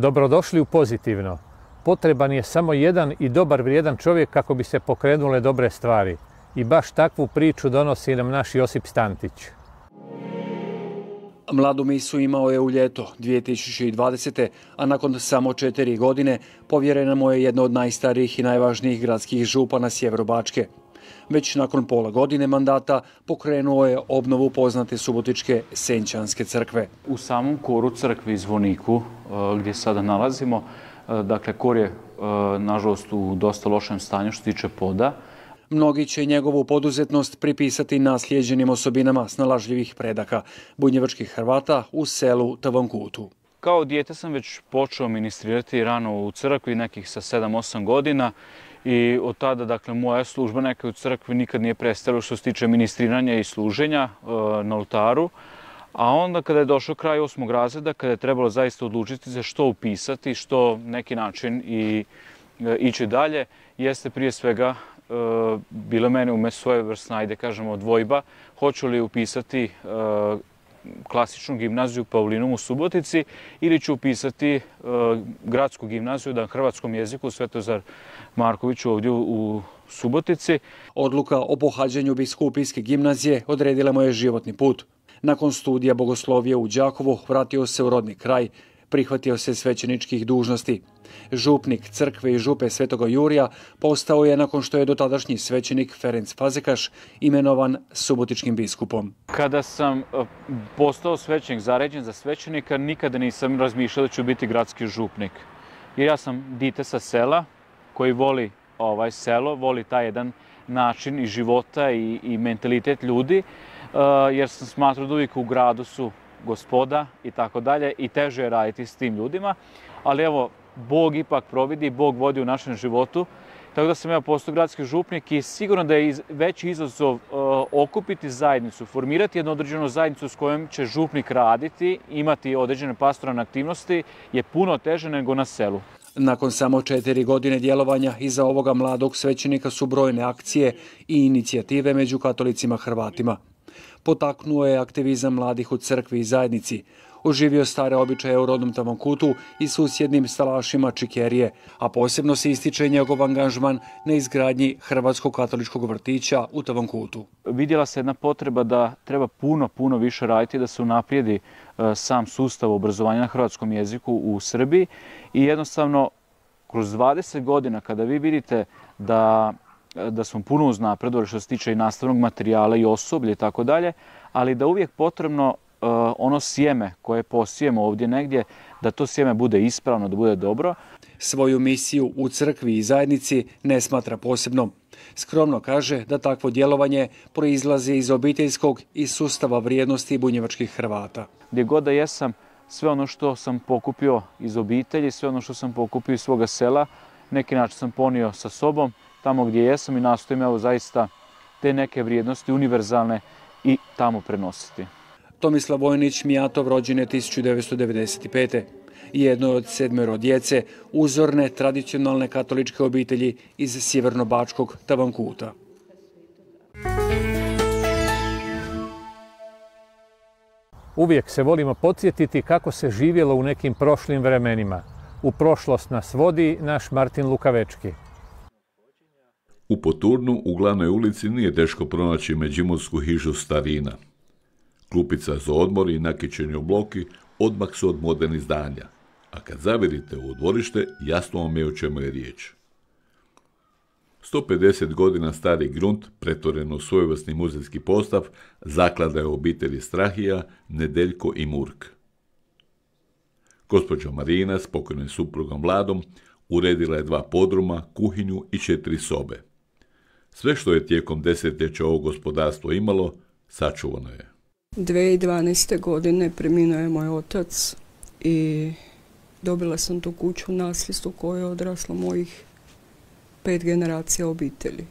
Dobrodošli u Pozitivno. Potreban je samo jedan i dobar vrijedan čovjek kako bi se pokrenule dobre stvari. I baš takvu priču donosi nam naš Josip Stantić. Mladu misu imao je u ljeto 2020. a nakon samo 4 godine povjerena mu je jedna od najstarijih i najvažnijih gradskih župana Sjeverobačke. Već nakon pola godine mandata pokrenuo je obnovu poznate subotičke Senčanske crkve. U samom koru crkve i zvoniku gdje sada nalazimo, dakle kor je nažalost u dosta lošem stanju što se tiče poda. Mnogi će njegovu poduzetnost pripisati naslijeđenim osobinama snalažljivih predaka bunjevačkih Hrvata u selu Tavankutu. Kao dijete sam već počeo ministrirati rano u crkvi, nekih sa 7-8 godina. I od tada, dakle, moja služba neka u crkvi nikad nije prestala što se tiče ministriranja i služenja na oltaru. A onda kada je došao kraj 8. razreda, kada je trebalo zaista odlučiti za što upisati, što neki način i ići dalje, jeste prije svega bilo mene ume svojevrsna, ajde kažemo, dvojba, hoću li upisati klasičnu gimnaziju Paulinum u Subotici ili ću upisati gradsku gimnaziju na hrvatskom jeziku Svetozar Markoviću ovdje u Subotici. Odluka o pohađanju biskupijske gimnazije odredila mu je životni put. Nakon studija bogoslovije u Đakovu vratio se u rodni kraj, prihvatio se svećeničkih dužnosti. Župnik crkve i župe Svetoga Jurija postao je nakon što je dotadašnji svećenik Ferenc Fazekaš imenovan subotičkim biskupom. Kada sam postao svećenik, zaređen za svećenika, nikada nisam razmišljao da ću biti gradski župnik. Jer ja sam dite sa sela koji voli selo, voli taj jedan način i života i mentalitet ljudi, jer sam smatrao da uvijek u gradu su gospoda i tako dalje i teže je raditi s tim ljudima. Ali evo, Bog ipak providi, Bog vodi u našem životu. Tako da sam ja postao gradski župnik i sigurno da je veći izazov okupiti zajednicu, formirati jednu određenu zajednicu s kojom će župnik raditi, imati određene pastoralne aktivnosti je puno teže nego na selu. Nakon samo 4 godine djelovanja iza ovoga mladog svećenika su brojne akcije i inicijative među katolicima Hrvatima. Potaknuo je aktivizam mladih u crkvi i zajednici, oživio stare običaje u rodnom Tavankutu i susjednim Stalašima Čikerije, a posebno se ističe njegov angažman na izgradnji Hrvatskog katoličkog vrtića u Tavankutu. Vidjela se jedna potreba da treba puno više raditi da se unaprijedi sam sustav obrazovanja na hrvatskom jeziku u Srbiji i jednostavno kroz 20 godina kada vi vidite da smo puno uznapredovali što se tiče i nastavnog materijala i osoblja i tako dalje, ali da uvijek potrebno ono sjeme koje posijemo ovdje negdje, da to sjeme bude ispravno, da bude dobro. Svoju misiju u crkvi i zajednici ne smatra posebnom. Skromno kaže da takvo djelovanje proizlazi iz obiteljskog i sustava vrijednosti bunjevačkih Hrvata. Gdje god da jesam, sve ono što sam pokupio iz obitelji, sve ono što sam pokupio iz svoga sela, neki način sam ponio sa sobom tamo gdje jesam i nastojim evo zaista te neke vrijednosti univerzalne i tamo prenositi. Tomislav Vojnić Mijatov rođen je 1995. Jedno od 7 djece uzorne tradicionalne katoličke obitelji iz sjevernobačkog Tavankuta. Uvijek se volimo podsjetiti kako se živjelo u nekim prošlim vremenima. U prošlost nas vodi naš Martin Lukavečki. U Poturnu, u glavnoj ulici, nije teško pronaći međimursku hižu starina. Klupica za odmor i nakićeni obloki odmah su od modernih zdanja, a kad zavirite u dvorište, jasno vam je o čemu je riječ. 150 godina stari grunt, pretvoren u svojevrsni muzejski postav, zaklada je obitelji Strahija, Nedeljko i Murk. Gospođa Marina s pokojnim suprugom Vladom uredila je 2 podruma, kuhinju i 4 sobe. Sve što je tijekom desetljeća ovo gospodarstvo imalo, sačuvano je. 2012. godine preminuo je moj otac i dobila sam tu kuću u nasljedstvu koje je odraslo mojih 5 generacija obitelji.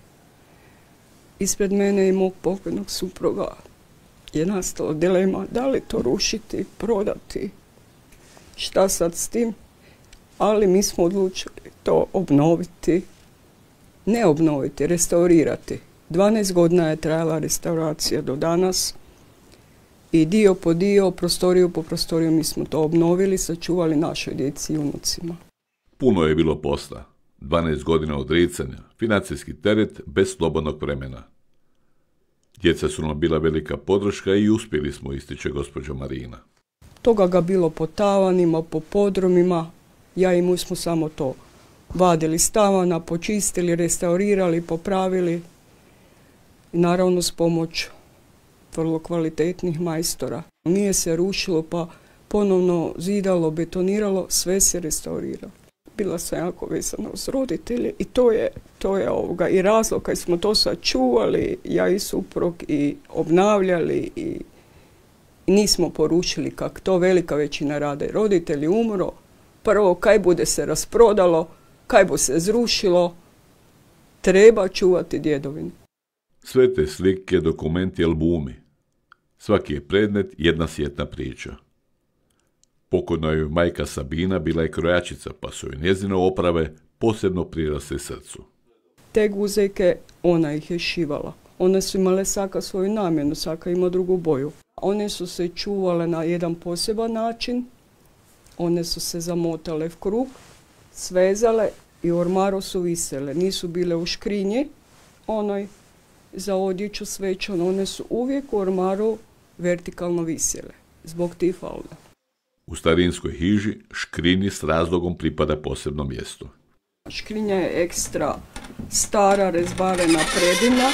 Ispred mene i mog pokojnog supruga je nastala dilema da li to rušiti, prodati, šta sad s tim, ali mi smo odlučili to obnoviti, ne obnoviti, restaurirati. 12 godina je trajala restauracija do danas. i dio po dio, prostoriju po prostoriju mi smo to obnovili, sačuvali našoj djeci i unucima. Puno je bilo posla. 12 godina odricanja, financijski teret bez slobodnog vremena. Djeca su nam bila velika podrška i uspjeli smo, ističe gospođa Marina. Toga ga bilo po tavanima, po podrumima. Ja i mu smo samo to vadili s tavana, počistili, restaurirali, popravili. I naravno s pomoć vrlo kvalitetnih majstora. Nije se rušilo pa ponovno zidalo, betoniralo, sve se restauriralo. Bila sam jako vezana uz roditelje i to je i razlog kad smo to sačuvali, ja i suprug, i obnavljali i nismo porušili kak to velika većina rade. Roditelji umro, prvo kaj bude se rasprodalo, kaj bu se zrušilo, treba čuvati djedovinu. Sve te slike, dokumenti, albumi. Svaki je predmet jedna sjetna priča. Pokojna joj majka Sabina bila je krojačica, pa su joj njezine oprave posebno prirasle srcu. Te guzeke, ona ih je šivala. One su imale svaka svoju namjenu, svaka ima drugu boju. One su se čuvale na jedan poseban način, one su se zamotale v krug, svezale i u ormaru su visele. Nisu bile u škrinji, onoj za odjeću svečano, one su uvijek u ormaru vertikalno visjele, zbog tih falda. U starinskoj hiži škrinji s razlogom pripada posebno mjesto. Škrinja je ekstra stara, rezbarena predina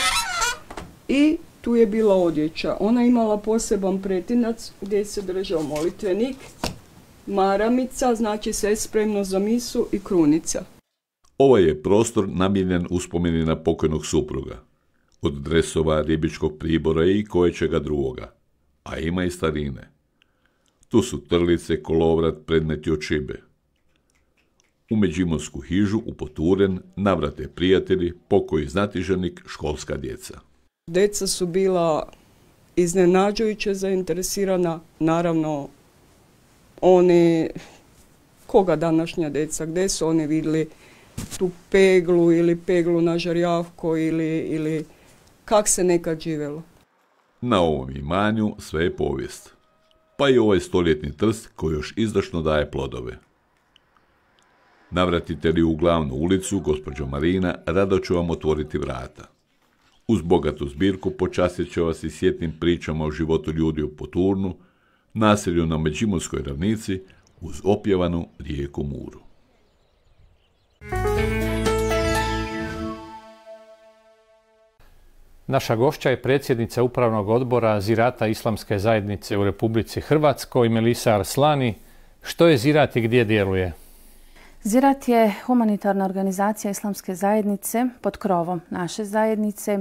i tu je bila odjeća. Ona imala poseban pretinac gdje se držao molitvenik, maramica, znači sve spremno za misu, i krunica. Ovaj je prostor namijenjen uspomeni na pokojnog supruga. Od dresova, ribičkog pribora i koječega drugoga. A ima i starine. Tu su trlice, kolovrat, predmeti od šibe. U međimursku hižu upoturen navrate prijatelji, pokoji znatiženik, školska djeca. Djeca su bila iznenađujuće zainteresirana, naravno oni, koga današnja djeca, gdje su oni vidjeli tu peglu ili peglu na žarjavko ili kak se nekad živjelo. Na ovom imanju sve je povijest. Pa i ovaj stoljetni trst koji još izdašno daje plodove. Navratite li u glavnu ulicu, gospođo Marina, rado ću vam otvoriti vrata. Uz bogatu zbirku počastit će vas i sjetnim pričama o životu ljudi u Poturnu, naselju na Međimurskoj ravnici, uz opjevanu rijeku Muru. Naša gošća je predsjednica Upravnog odbora Zirata Islamske zajednice u Republici Hrvatskoj, Melisa Arslani. Što je Zirat i gdje djeluje? Zirat je humanitarna organizacija Islamske zajednice pod krovom naše zajednice.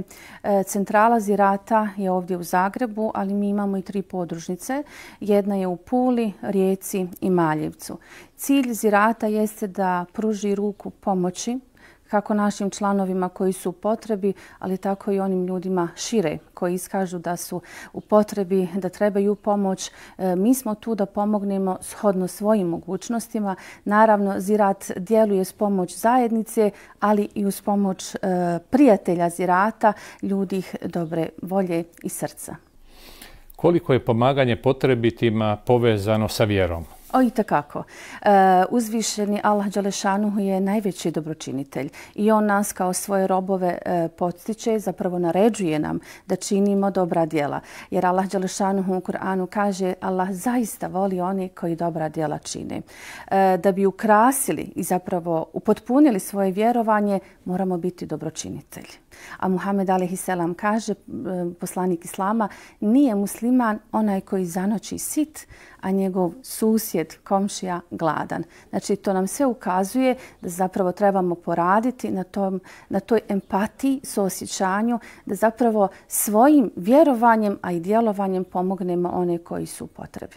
Centrala Zirata je ovdje u Zagrebu, ali mi imamo i 3 podružnice. Jedna je u Puli, Rijeci i Maljevcu. Cilj Zirata jeste da pruži ruku pomoći kako našim članovima koji su u potrebi, ali tako i onim ljudima šire koji iskažu da su u potrebi, da trebaju pomoć. Mi smo tu da pomognemo shodno svojim mogućnostima. Naravno, Zirat djeluje s pomoć zajednice, ali i uz pomoć prijatelja Zirata, ljudi dobre volje i srca. Koliko je pomaganje potrebitima povezano sa vjerom? Itekako. Uzvišeni Allah Đelešanuhu je najveći dobročinitelj i on nas kao svoje robove podstiče, zapravo naređuje nam da činimo dobra djela. Jer Allah Đelešanuhu u Kur'anu kaže Allah zaista voli one koji dobra djela čine. Da bi ukrasili i zapravo upotpunili svoje vjerovanje, moramo biti dobročinitelji. A Muhammed a.s. kaže, poslanik Islama, nije musliman onaj koji zanoći sit, a njegov susjed, komšija, gladan. Znači, to nam sve ukazuje da zapravo trebamo poraditi na toj empatiji, suosjećanju, da zapravo svojim vjerovanjem, a i djelovanjem pomognemo one koji su u potrebi.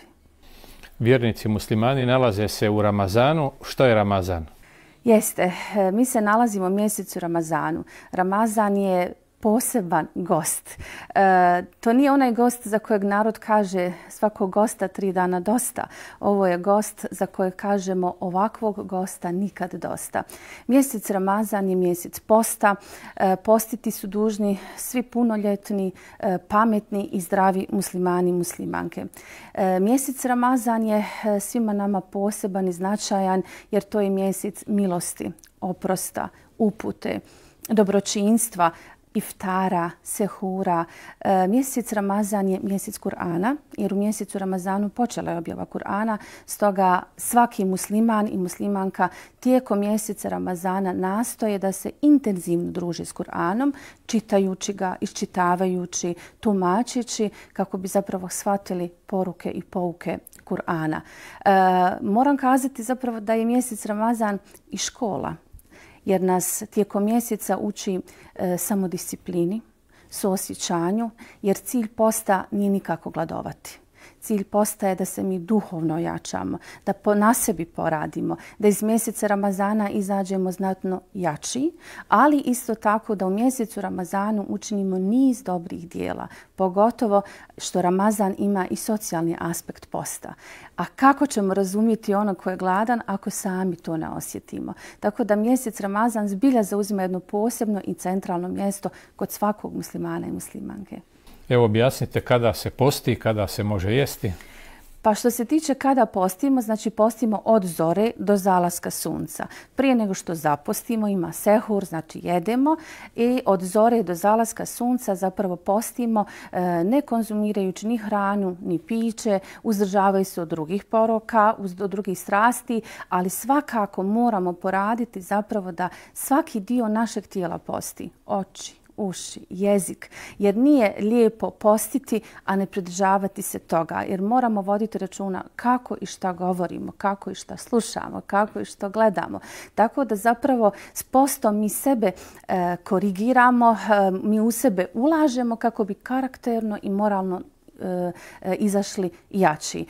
Vjernici muslimani nalaze se u Ramazanu. Što je Ramazan? Jeste. Mi se nalazimo u mjesecu Ramazanu. Ramazan je poseban gost. To nije onaj gost za kojeg narod kaže svakog gosta 3 dana dosta. Ovo je gost za kojeg kažemo ovakvog gosta nikad dosta. Mjesec Ramazan je mjesec posta. Postiti su dužni svi punoljetni, pametni i zdravi muslimani i muslimanke. Mjesec Ramazan je svima nama poseban i značajan jer to je mjesec milosti, oprosta, upute, dobročinstva, iftara, sehura. Mjesec Ramazan je mjesec Kur'ana, jer u mjesecu Ramazanu počela je objava Kur'ana, stoga svaki musliman i muslimanka tijekom mjeseca Ramazana nastoje da se intenzivno druži s Kur'anom, čitajući ga, iščitavajući, tumačeći, kako bi zapravo shvatili poruke i pouke Kur'ana. Moram kazati zapravo da je mjesec Ramazan i škola, jer nas tijekom mjeseca uči samodisciplini, suosjećanju, jer cilj posta nije nikako gladovati. Cilj posta je da se mi duhovno jačamo, da na sebi poradimo, da iz mjeseca Ramazana izađemo znatno jači, ali isto tako da u mjesecu Ramazanu učinimo niz dobrih dijela, pogotovo što Ramazan ima i socijalni aspekt posta. A kako ćemo razumjeti onog ko je gladan ako sami to ne osjetimo? Tako da mjesec Ramazan zbilja zauzima jedno posebno i centralno mjesto kod svakog muslimana i muslimanke. Evo objasnite kada se posti i kada se može jesti. Pa što se tiče kada postimo, znači postimo od zore do zalaska sunca. Prije nego što zapostimo ima sehur, znači jedemo, i od zore do zalaska sunca zapravo postimo ne konzumirajući ni hranu ni piće, uzdržavaju se od drugih poroka, od drugih strasti, ali svakako moramo poraditi zapravo da svaki dio našeg tijela posti. Oči, uši, jezik, jer nije lijepo postiti, a ne pridržavati se toga, jer moramo voditi računa kako i šta govorimo, kako i šta slušamo, kako i što gledamo. Tako da zapravo s postom mi sebe korigiramo, mi u sebe ulažemo kako bi karakterno i moralno izašli jači.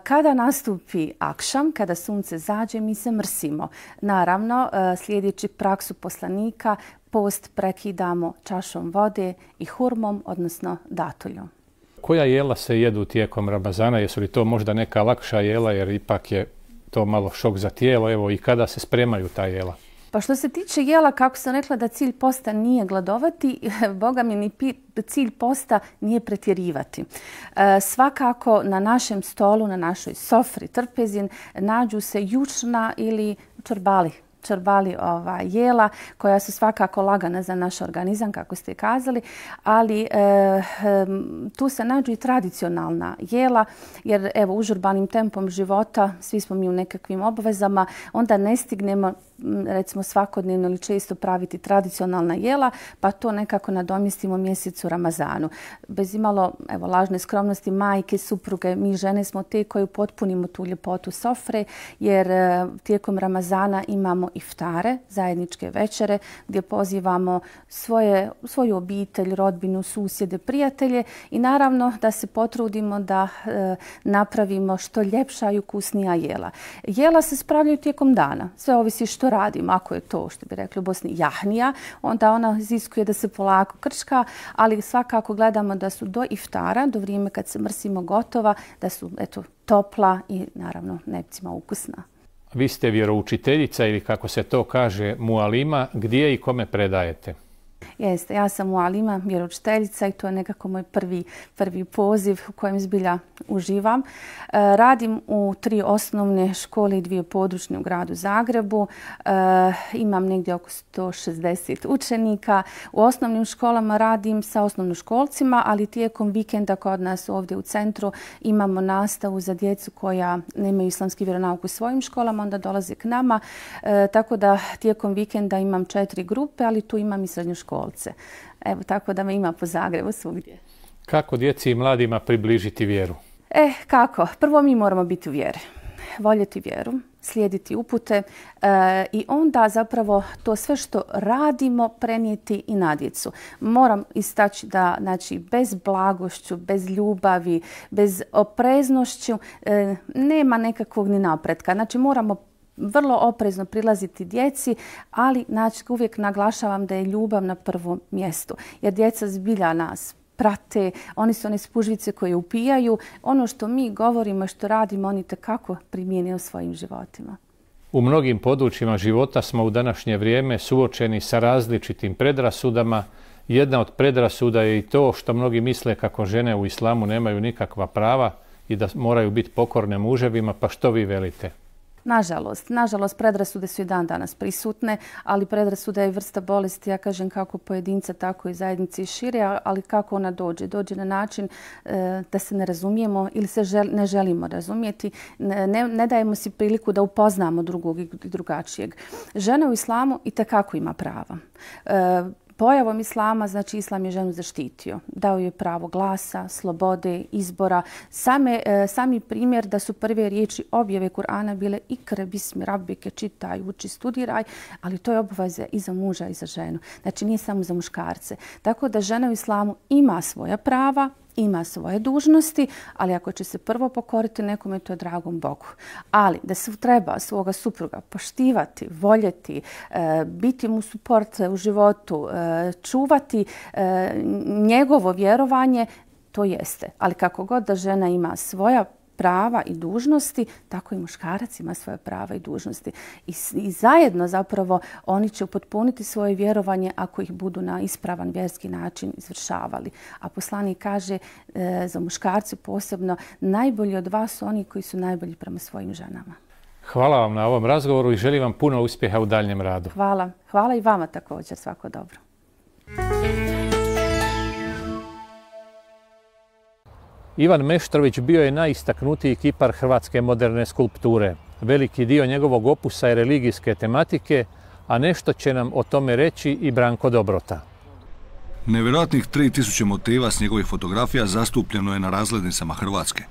Kada nastupi akšam, kada sunce zađe, mi se mrsimo. Naravno, slijedeći praksu poslanika, post prekidamo čašom vode i hurmom, odnosno datuljom. Koja jela se jedu tijekom Ramazana? Jesu li to možda neka lakša jela, jer ipak je to malo šok za tijelo? Evo, i kada se spremaju ta jela? Pa što se tiče jela, kako sam rekla da cilj posta nije gladovati, Boga mi ni cilj posta nije pretjerivati. Svakako na našem stolu, na našoj sofri, trpezin, nađu se jučna ili čorbali jela koja su svakako lagana za naš organizam, kako ste kazali, ali tu se nađu i tradicionalna jela, jer evo užurbanim tempom života, svi smo mi u nekakvim obvezama, onda ne stignemo recimo svakodnevno ili često praviti tradicionalna jela, pa to nekako nadomjestimo mjesecu Ramazanu. Bez imalo lažne skromnosti, majke, supruge, mi žene smo te koji potpunimo tu ljepotu sofre, jer tijekom Ramazana imamo iftare, zajedničke večere, gdje pozivamo svoju obitelj, rodbinu, susjede, prijatelje i naravno da se potrudimo da napravimo što ljepša i ukusnija jela. Jela se spravljaju tijekom dana, sve ovisi što radimo. Ako je to, što bi rekli u Bosni, jahnija, onda ona iziskuje da se polako krčka, ali svakako gledamo da su do iftara, do vrijeme kad se mrsimo gotova, da su topla i naravno nepcima ukusna. Vi ste vjeroučiteljica ili kako se to kaže mualima, gdje i kome predajete? Jeste, ja sam mualima, vjeroučiteljica i to je nekako moj prvi poziv u kojem zbilja uživam. Radim u 3 osnovne škole i 2 područne u gradu Zagrebu. Imam negdje oko 160 učenika. U osnovnim školama radim sa osnovnoškolcima, ali tijekom vikenda kod nas ovdje u centru imamo nastavu za djecu koja nemaju islamski vjeronauk u svojim školama, onda dolaze k nama. Tako da tijekom vikenda imam 4 grupe, ali tu imam i srednjoškolce. Evo, tako da me ima po Zagrebu svugdje. Kako djeci i mladima približiti vjeru? Kako? Prvo mi moramo biti u vjeri. Voljeti vjeru, slijediti upute i onda zapravo to sve što radimo prenijeti i na djecu. Moram istaći da bez blagošću, bez ljubavi, bez opreznošću nema nekakvog ni napretka. Znači moramo vrlo oprezno prilaziti djeci, ali uvijek naglašavam da je ljubav na prvom mjestu. Jer djeca zbilja nas prate, oni su one spužvice koje upijaju. Ono što mi govorimo i što radimo, oni tekako primijene u svojim životima. U mnogim područjima života smo u današnje vrijeme suočeni sa različitim predrasudama. Jedna od predrasuda je i to što mnogi misle kako žene u islamu nemaju nikakva prava i da moraju biti pokorne muževima, pa što vi velite? Nažalost, predrasude su i dan danas prisutne, ali predrasuda je vrsta bolesti, ja kažem, kako pojedinca, tako i zajednice i šire, ali kako ona dođe? Dođe na način da se ne razumijemo ili se ne želimo razumijeti, ne dajemo si priliku da upoznamo drugog i drugačijeg. Žena u islamu itekako ima prava. Pojavom islama, znači islam je ženu zaštitio. Dao je pravo glasa, slobode, izbora. Sami primjer da su prve riječi objave Kur'ana bile ikre bismi rabbike, čitaj, uči, studiraj, ali to je obaveza i za muža i za ženu. Znači nije samo za muškarce. Tako da žena u islamu ima svoja prava, ima svoje dužnosti, ali ako će se prvo pokoriti nekome, to je dragom Bogu. Ali da se treba svoga supruga poštivati, voljeti, biti mu suport u životu, čuvati njegovo vjerovanje, to jeste. Ali kako god da žena ima svoja prava i dužnosti, tako i muškarac ima svoje prava i dužnosti. I zajedno zapravo oni će upotpuniti svoje vjerovanje ako ih budu na ispravan vjerski način izvršavali. A poslanik kaže za muškarce posebno, najbolji od vas su oni koji su najbolji prema svojim ženama. Hvala vam na ovom razgovoru i želim vam puno uspjeha u daljnjem radu. Hvala i vama također. Svako dobro. Ivan Meštrović bio je najistaknutiji kipar hrvatske moderne skulpture. Veliki dio njegovog opusa je religijske tematike, a nešto će nam o tome reći i Branko Dobrota. Nevjerojatnih 3000 motiva s njegovih fotografija zastupljeno je na razglednicama Hrvatske.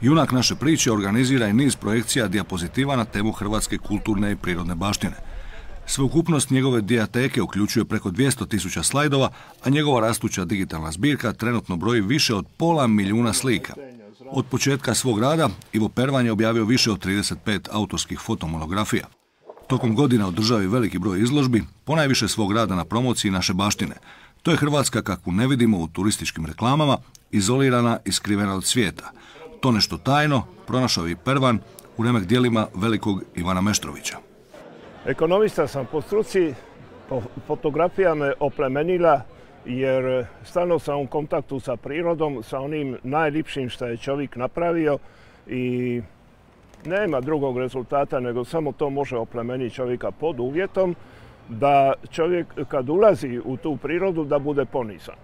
Junak naše priče organizira i niz projekcija dijapozitiva na temu hrvatske kulturne i prirodne baštine. Sveukupnost njegove dijateke uključuje preko 200.000 slajdova, a njegova rastuća digitalna zbirka trenutno broji više od 500 milijuna slika. Od početka svog rada Ivo Pervan je objavio više od 35 autorskih fotomonografija. Tokom godina održao je veliki broj izložbi, ponajviše svog rada na promociji naše baštine. To je Hrvatska kakvu ne vidimo u turističkim reklamama, izolirana i skrivena od svijeta. To nešto tajno pronašao i Pervan u remek djelima velikog Ivana Meštrovića. Ekonomista sam po struci, fotografija me oplemenila jer stalno sam u kontaktu sa prirodom, sa onim najljepšim što je čovjek napravio i nema drugog rezultata nego samo to može oplemeniti čovjeka pod uvjetom da čovjek kad ulazi u tu prirodu da bude ponizan.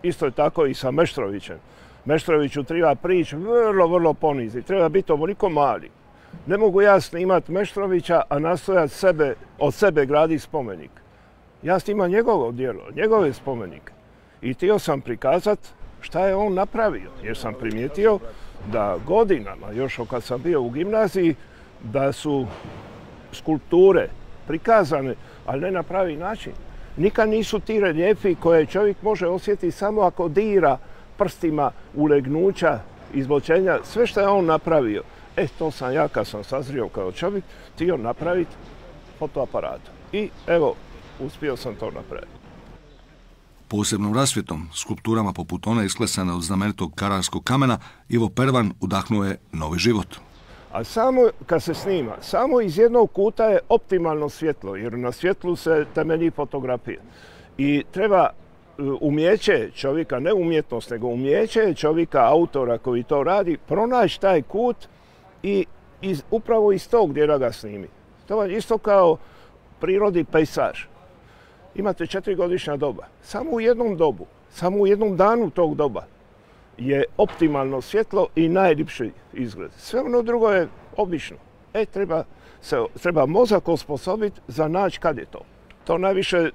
Isto je tako i sa Meštrovićem. Meštroviću treba prići vrlo poniziti, treba biti ovoliko mali. Ne mogu ja snimati Meštrovića, a nastojati od sebe graditi spomenik. Ja snimam njegovo djelo, njegove spomenike. I htio sam prikazati šta je on napravio. Jer sam primijetio da godinama, još kad sam bio u gimnaziji, da su skulpture prikazane, ali ne na pravi način. Nikad nisu ti reljefi koje čovjek može osjetiti samo ako dira prstima ulegnuća, izbočenja, sve što je on napravio. To sam ja, kad sam sazrio kao čovjek, htio napraviti fotoaparatom. I evo, uspio sam to napraviti. Posebnom rasvjetom, skulpturama poput one isklesane od znamenitog kararskog kamena, Ivo Pervan udahnuo je novi život. A samo kad se snima, samo iz jednog kuta je optimalno svjetlo, jer na svjetlu se temelji fotografija. I treba umjeće čovjeka, ne umjetnost, nego umjeće čovjeka, autora koji to radi, pronaći taj kut i upravo iz tog dijela ga snimi. To je isto kao prirodi pejsaž. Imate 4-godišnja doba. Samo u jednom dobu, samo u jednom danu tog doba je svjetlo i najljepši izgled. Sve ono drugo je obično. Treba mozak osposobiti za naći kad je to. To najviše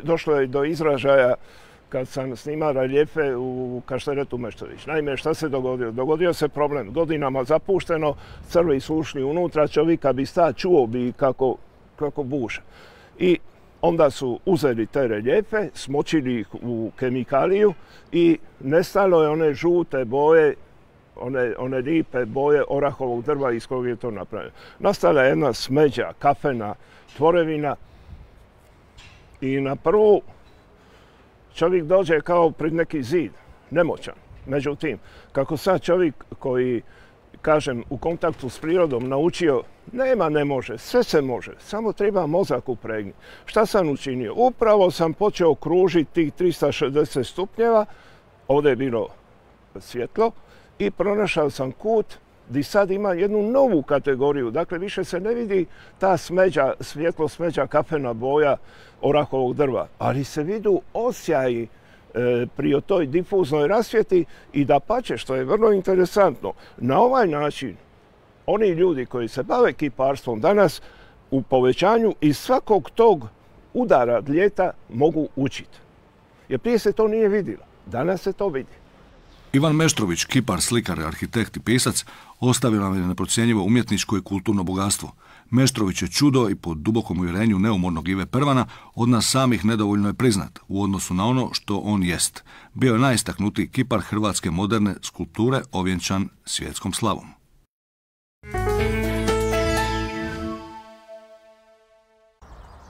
došlo je do izražaja kad sam snimao reljefe u Kašteretu Meštrović. Naime, šta se dogodilo? Dogodio se problem. Godinama zapušteno, crvi su ušli unutra, čovjeka bi čuo bi kako buša. I onda su uzeli te reljefe, smočili ih u kemikaliju i nestalo je one žute boje one lipe boje orahovog drva iz kojeg je to napravljeno. Nastala je jedna smeđa, kafena tvorevina i na prvu čovjek dođe kao pred neki zid, nemoćan. Međutim, kako sad čovjek koji, kažem, u kontaktu s prirodom naučio, nema ne može, sve se može, samo treba mozak upregnuti. Šta sam učinio? Upravo sam počeo kružiti tih 360 stupnjeva, ovdje je bilo svjetlo, i pronašao sam kut gdje sad ima jednu novu kategoriju. Dakle, više se ne vidi ta smeđa, svjetlo smeđa, kafena boja orahovog drva, ali se vidu osjaji pri toj difuznoj rasvjeti i dapače, što je vrlo interesantno. Na ovaj način oni ljudi koji se bave kiparstvom danas u povećanju iz svakog tog udara ljeta mogu učiti. Jer prije se to nije vidjelo, danas se to vidi. Ivan Meštrović, kipar, slikar, arhitekt i pisac, ostavio nam je neprocjenjivo umjetničko i kulturno bogatstvo. Meštrović je čudo i po dubokom uvjerenju neumornog Ive Pervana od nas samih nedovoljno je priznat u odnosu na ono što on jest. Bio je najistaknutiji kipar hrvatske moderne skulpture ovjenčan svjetskom slavom.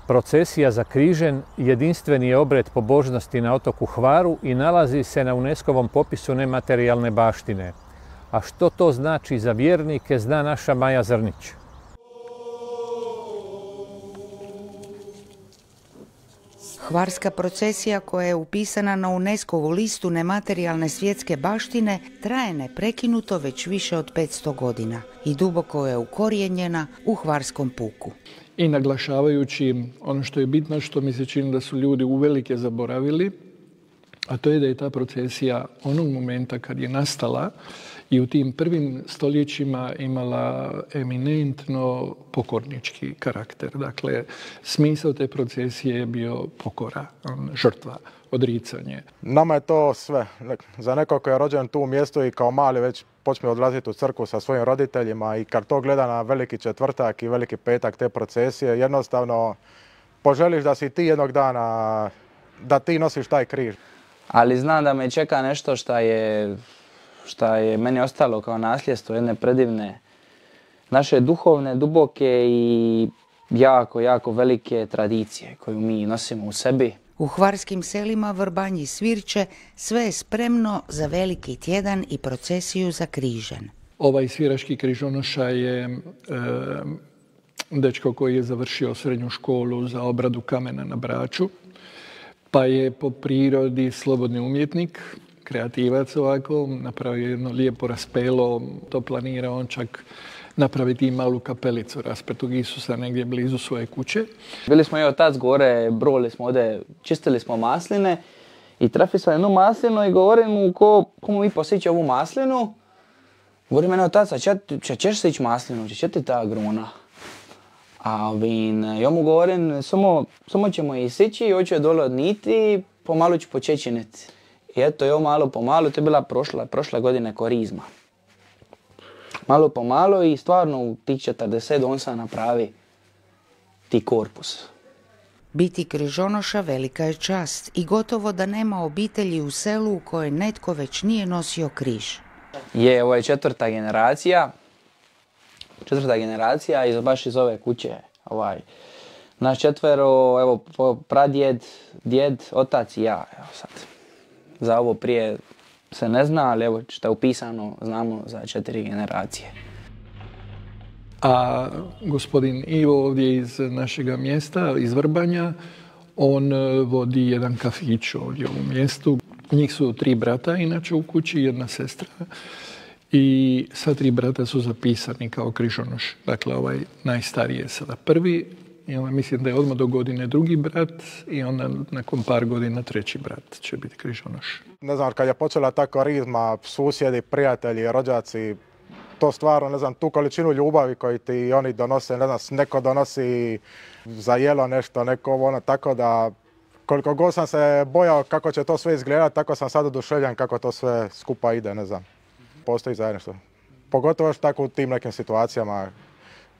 Procesija za Križen jedinstveni je obred pobožnosti na otoku Hvaru i nalazi se na UNESCO-vom popisu nematerijalne baštine. A što to znači za vjernike, zna naša Maja Zrnić. Hvarska procesija koja je upisana na UNESCO-vu listu nematerijalne svjetske baštine traje neprekinuto već više od 500 godina i duboko je ukorijenjena u hvarskom puku. I naglašavajući ono što je bitno, što mi se čini da su ljudi uvelike zaboravili, a to je da je ta procesija onog momenta kad je nastala i u tim prvim stoljećima imala eminentno pokornički karakter. Dakle, smisao te procesije je bio pokora, žrtva, odricanje. Nama je to sve. Za nekog koji je rođen tu u mjestu i kao mali već počne odlaziti u crkvu sa svojim roditeljima i kad to gleda na veliki četvrtak i veliki petak te procesije, jednostavno poželiš da si ti jednog dana, da ti nosiš taj križ. Ali znam da me čeka nešto što je meni ostalo kao nasljedstvo jedne predivne naše duhovne, duboke i jako velike tradicije koju mi nosimo u sebi. U hvarskim selima Vrbanji Svirče sve je spremno za veliki tjedan i procesiju za Križen. Ovaj sviraški križonoša je dečko koji je završio srednju školu za obradu kamena na Braču, pa je po prirodi slobodni umjetnik, kreativac ovako, napravio jedno lijepo raspelo, to planira on čak napraviti i malu kapelicu raspetog Isusa negdje blizu svoje kuće. Bili smo i otac gore, brojili smo ovdje, čistili smo masline i trafi sam jednu maslinu i govorim mu komu mi posjeći ovu maslinu. Govori mene otac, ćeš se ići maslinu, će ti ta gruna. A ja mu govorim, samo ćemo isići i hoću je dole odniti, pomalo ću počečiniti. I eto, jo malo po malo, to je bila prošle godine korizma. Malo po malo i stvarno u tih 40 on sam napravi ti korpus. Biti križonoša velika je čast i gotovo da nema obitelji u selu u kojoj netko već nije nosio križ. Ovo je četvrta generacija baš iz ove kuće. Naš četvero, evo, pradjed, djed, otac i ja. Evo sad. Za ovo prije se ne zna, ali evo što je upisano, znamo za 4 generacije. A gospodin Ivo ovdje iz našega mjesta, iz Vrbanja, on vodi jedan kafić ovdje u mjestu. Njih su 3 brata inače u kući, 1 sestra. I sva 3 brata su zapisani kao križonoš. Dakle, ovaj najstariji je sada prvi. I mislim da je odmah do godine drugi brat i onda nakon par godina 3. brat će biti križonoš. Ne znam, kad je počela ta korizma, susjedi, prijatelji, rođaci, to stvarno, ne znam, tu količinu ljubavi koju ti oni donose, ne znam, neko donosi za jelo nešto, neko ono, tako da koliko god sam se bojao kako će to sve izgledati, tako sam sad oduševljen kako to sve skupa ide, ne znam. Postoji zajedništvo. Pogotovo još tako u tim nekim situacijama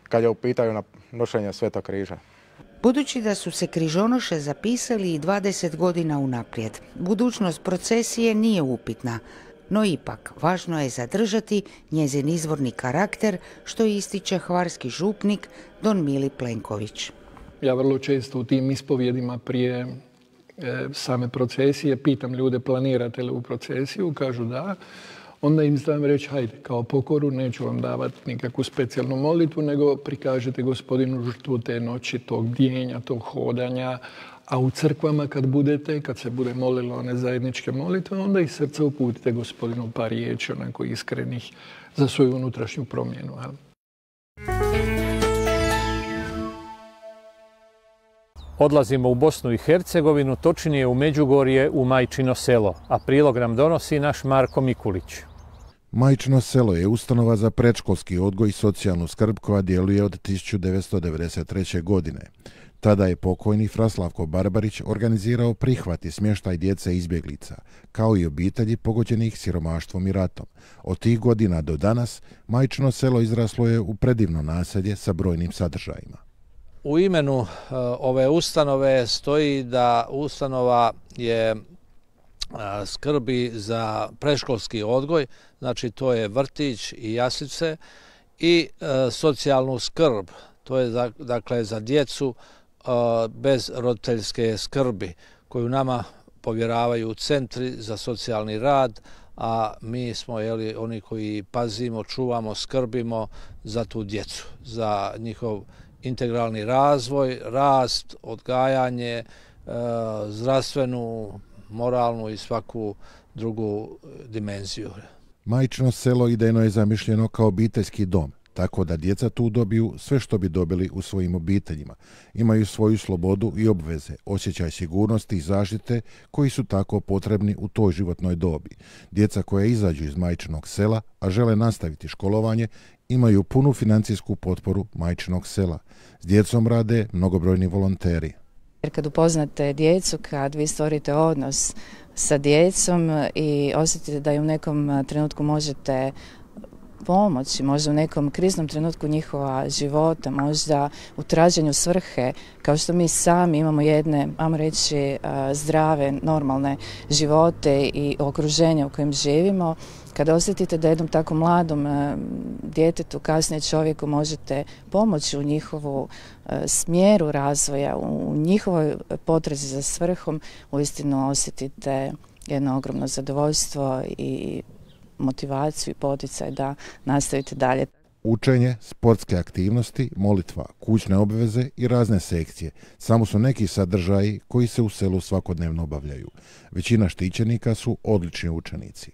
kad je u pitanju nošenje Svetog križa. Budući da su se križonoše zapisali i 20 godina unaprijed, budućnost procesije nije upitna. no ipak važno je zadržati njezin izvorni karakter, što ističe hvarski župnik Don Mili Plenković. Ja vrlo često u tim ispovjedima prije same procesije pitam ljude planirate li u procesiju, kažu da. Onda im znam reći, hajde, kao pokoru, neću vam davati nikakvu specijalnu molitvu, nego prikažete Gospodinu žrtvu te noći, tog bdijenja, tog hodanja. A u crkvama kad budete, kad se bude molilo one zajedničke molitve, onda iz srca uputite Gospodinu par riječi, onako iskrenih, za svoju unutrašnju promjenu. Odlazimo u Bosnu i Hercegovinu, točnije u Međugorje, u Majčino selo, a prilog nam donosi naš Marko Mikulić. Majčino selo je ustanova za predškolski odgoj i socijalnu skrb koja djeluje od 1993. godine. Tada je pokojni Fra Slavko Barbarić organizirao prihvat i smještaj djece izbjeglica, kao i obitelji pogođenih siromaštvom i ratom. Od tih godina do danas Majčino selo izraslo je u predivno naselje sa brojnim sadržajima. U imenu ove ustanove stoji da ustanova je skrbi za predškolski odgoj, znači to je vrtić i jaslice, i socijalnu skrb, to je dakle za djecu bez roditeljske skrbi koju nama povjeravaju centri za socijalni rad, a mi smo oni koji pazimo, čuvamo, skrbimo za tu djecu, za njihov integralni razvoj, rast, odgajanje, zdravstvenu, moralnu i svaku drugu dimenziju. Majčino selo idejno je zamišljeno kao obiteljski dom, tako da djeca tu dobiju sve što bi dobili u svojim obiteljima. Imaju svoju slobodu i obveze, osjećaj sigurnosti i zaštite koji su tako potrebni u toj životnoj dobi. Djeca koja izađu iz Majčinog sela, a žele nastaviti školovanje, imaju punu financijsku potporu Majčinog sela. S djecom rade mnogobrojni volonteri. Jer kad upoznate djecu, kad vi stvorite odnos sa djecom i osjetite da im u nekom trenutku možete pomoći, možda u nekom kriznom trenutku njihova života, možda u traženju svrhe, kao što mi sami imamo jedne, ajmo reći, zdrave, normalne živote i okruženje u kojem živimo, kada osjetite da jednom tako mladom djetetu, kasnije čovjeku možete pomoći u njihovu smjeru razvoja, u njihovoj potrazi za svrhom, uistinu osjetite jedno ogromno zadovoljstvo i motivaciju i poticaj da nastavite dalje. Učenje, sportske aktivnosti, molitva, kućne obveze i razne sekcije samo su neki sadržaji koji se u selu svakodnevno obavljaju. Većina štićenika su odlični učenici.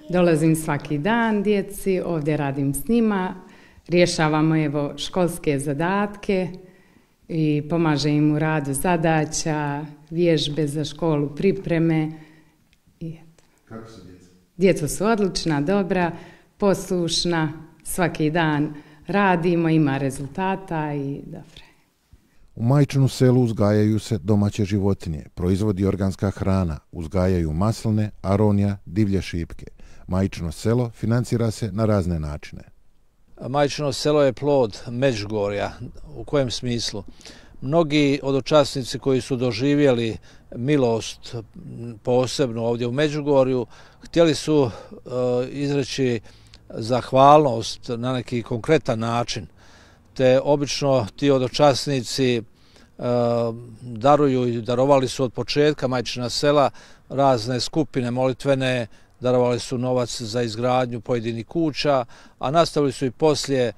Dolazim svaki dan djeci, ovdje radim s njima, rješavamo školske zadatke i pomažem im u radu zadaća, vježbe za školu, pripreme. Kako su djeca? Djeca su odlična, dobra, poslušna, svaki dan radimo, ima rezultata i dobro. U Majčinu selu uzgajaju se domaće životinje, proizvodi organska hrana, uzgajaju masline, aronija, divlje šipke. Majčino selo financira se na razne načine. Majčino selo je plod Međugorja. U kojem smislu? Mnogi hodočasnici koji su doživjeli milost posebno ovdje u Međugorju, htjeli su izreći zahvalnost na neki konkretan način, te obično ti hodočasnici daruju i darovali su od početka Majčina sela razne skupine molitvene, darovali su novac za izgradnju pojedinih kuća, a nastavili su i poslije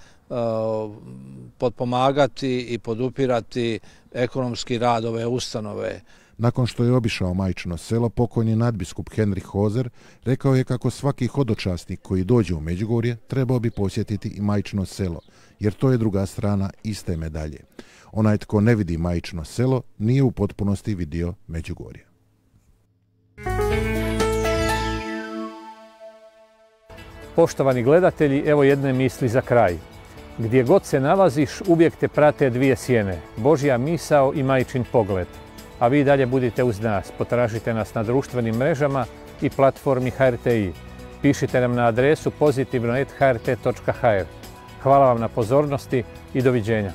potpomagati i podupirati ekonomski rad ove ustanove. Nakon što je obišao Majčino selo, pokojni nadbiskup Henrik Hozer rekao je kako svaki hodočasnik koji dođe u Međugorje trebao bi posjetiti i Majčino selo, jer to je druga strana iste medalje. Onaj tko ne vidi Majčino selo nije u potpunosti vidio Međugorje. Poštovani gledatelji, evo jedne misli za kraj. Gdje god se nalaziš, uvijek te prate dvije sjene, Božja misao i Majčin pogled. A vi dalje budite uz nas, potražite nas na društvenim mrežama i platformi HRTI. Pišite nam na adresu pozitivno@hrt.hr. Hvala vam na pozornosti i doviđenja.